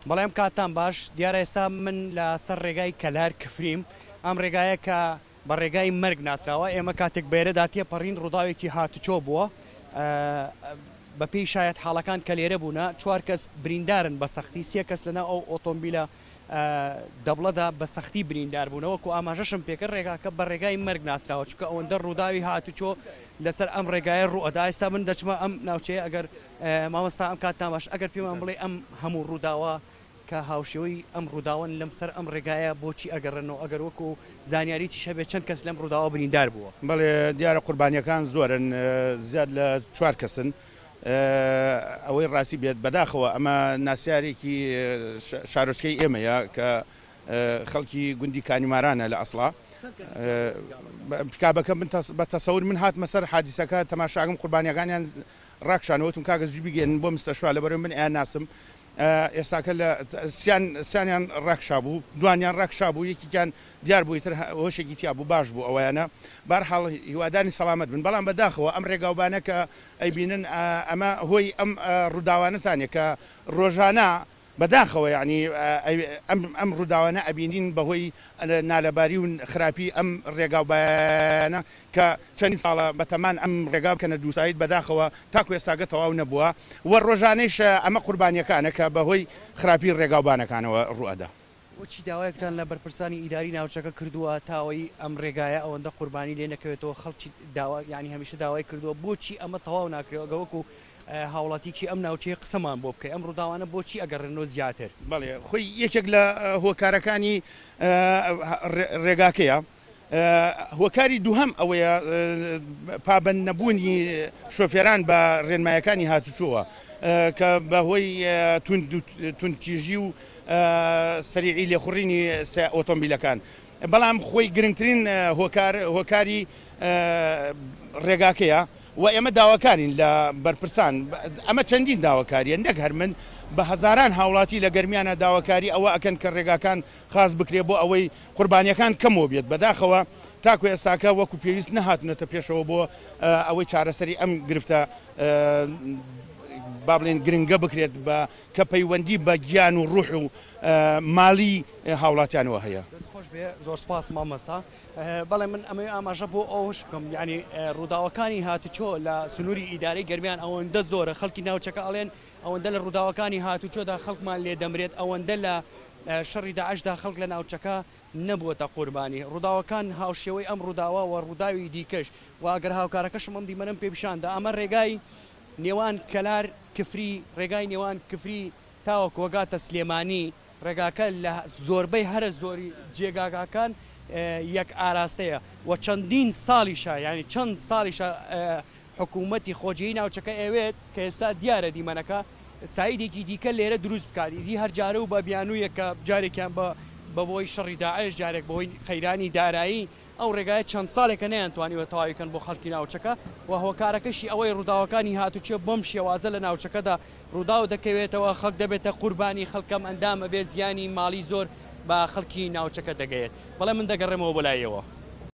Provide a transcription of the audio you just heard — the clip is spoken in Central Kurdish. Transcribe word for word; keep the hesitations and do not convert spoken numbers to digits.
بەڵێم کاتان باش. دیارە ئێستا من لەسەر ڕێگای کەلار کفریم، ئەم ڕێگایە کە بە ڕێگای مەرگ ناسراوە. ئێمە کاتێک بێرەدا تێپەڕین ڕووداوێکی هاتوچۆ بووە، بە پێی شایەت حاڵەکان کە لێرە بوونە چوار کەس بریندارن بە سەختی، سێ کەس لەناو ئەو ئۆتۆمبیلە دەبڵەدا بە سەختی بریندار بوونەوە. وەکو ئاماژەشم پێکرد ڕێگاکە بە ڕێگای مەرگ ناسراوە، چونکە ئەوەندە ڕووداوی هاتوچۆ لەسەر ئەم ڕێگایە ڕوئەدا. ئێستا من دەچمە ئەم ناوچەیە. ئەگەر مامۆستا ئەم کاتتان باش، ئەگەر پێمان بڵێ ئەم هەموو ڕووداوە کە هاوشێوەی ئەم ڕووداوەن لەم سەر ئەم ڕێگایە بۆچی ئەگەڕێنەوە، ئەگەر وەکو زانیاریتیش هەبێت چەند کەس لەم ڕووداوە بریندار بووە؟ بەڵێ دیارە قوربانیەکان زۆرن، زیاد لە چوار کەسن. ئەوەی ڕاستی بێت بەداخەوە ئەمە ناسیارێکی شارۆچکەی ئێمەیە کە خەڵکی گوندی کانیمارانە لە ئەسڵا. پیکابەکە من بە تەسەور من هاتمە سەر حادیسەکە تەماشاگەم قوربانیەکانیان ڕاکشانەوە، وتم کاکە زوو بگەێنن بۆ مستەشوا لەبەرەوەی من ئەیان ناسم. ئێستاکە لە سیانیان ڕاکشا بوو، دوانیان ڕاکشا بوو، یەکێکیان دیار بوو ئیتر هۆشێکی تیا بوو، باش بوو ئەوەیانە. بارحاڵ هیواداری سەلامەت بن. بەڵام بەداخەوە ئەم ڕێگاوبانە کە ئەیبینن ئەمە هۆی ئەم ڕووداوانەتانە کە ڕۆژانە بەداخەوە یعنی ئەم ڕووداوانە ئەبینین بەهۆی نالەباری و خراپی ئەم ڕێگاوبانە کە چەندین ساڵە بەتەمان ئەم ڕێگا بکەنە دووسایت، بەداخەوە تاکو ئێستاگە تەواو نەبووە و ڕۆژانەیش ئەمە قوربانیەکانە کە بەهۆی خراپی ڕێگاوبانەکانەوە ڕوئەدا. بۆچی داوایەکتان لە بەرپرسانی ئیداری ناوچەکە کردووە تاوەی ئەم ڕێگایە ئەوەندە قوربانی لێ نەکەوێتەوە؟ خەڵکی داوا یعنی هەمیشە داوای کردووە، بۆچی ئەمە تەواو ناکرێت؟ ئەگە وەکو هاوڵاتیکی ئەم ناوچەیە قسەمان بۆ بکەی ئەم ڕووداوانە بۆچی ئەگەڕێنەوە زیاتر؟ بەڵێ خۆی یەکێک لە هۆکارەکانی ڕێگاکەیە. هۆکاری دووهەم ئەوەیە پابند نەبوونی شۆفێران بە ڕێنمایەکانی هاتوچۆوە کە بەهۆی توندتیژی و سەریعی لێخوڕینی ئۆتۆمبیلەکان. بەڵام خۆی گرنگترین هۆکار هۆکاری ڕێگاکەیە و ئێمە داواکارین لە بەرپرسان. ئەمە چەندین داواکاریە، نەک هەر من، بە هەزاران هاوڵاتی لە گەرمیانە داواکاری ئەوە ئەکەن کە ڕێگاکان خاص بکرێ بۆ ئەوەی قوربانیەکان کەمەوە بێت. بەداخەوە تاکو ئێستاکە وەکو پێویست نەهاتونەتە پێشەوە بۆ ئەوەی چارەسەری ئەم گرفتە با بڵێن گرنگە بکرێت بە کە پەیوەندی بە گیان و ڕوح و ماڵی هاوڵاتیانەوە هەیە. خۆش بێ، زۆر سپاس مامۆستا. بەڵێ من ئەمەوێ ئاماژە بۆ ئەوەش بکەم، یعنی ڕووداوەکانی هاتوچۆ لە سنووری ئیدارەی گەرمیان ئەوەندە زۆرە، خەڵکی ناوچەکە ئەڵێن ئەوەندە لە ڕووداوەکانی هاتوچۆدا خەڵکمان لێ دەمرێت، ئەوەندە لە شەڕی داعشدا خەڵک لە ناوچەکە نەبووەتە قوربانی. ڕووداوەکان هاوشێوەی ئەم ڕووداوە و ڕووداوی دیکەش و ئەگەر هاوکارەکەشم ئەم دیمەنەم پێ پیشاندا، ئەمە ڕێگای نێوان کەلار کفری، ڕێگای نێوان کفری تاوەکو وەگاتە سلێمانی، ڕێگاکە لە زۆربەی هەرە زۆری جێگاکان یەک ئاراستەیە و چەندین ساڵیشە، یعنی چەند ساڵیشە حکوومەتی خۆجێی ناوچەکە ئەوێت کە ئێستا دیارە دیمەنەکە سایدێکی دیکە لێرە دروست بکات. ئیدی هەر جارە و بە بیانوویەک کە جارێکیان بە بەهۆی شەڕی داعش، جارێک بەهۆی قەیرانی دارایی، ئەو ڕێگایە چەند ساڵێکە نەیانتوانیوە تەواویکەن بۆ خەڵکی ناوچەکە و هۆکارەکەشی ئەوەی ڕووداوەکانی هاتوچێ بەم شێوازە لە ناوچەکەدا ڕووداو دەکەوێتەوە، خەڵک دەبێتە قوربانی، خەڵکەم ئەندامە بێ زیانی ماڵی زۆر بە خەڵکی ناوچەکە دەگەیت. بەڵێ من دەگەڕێمەوە بۆ لایەوە.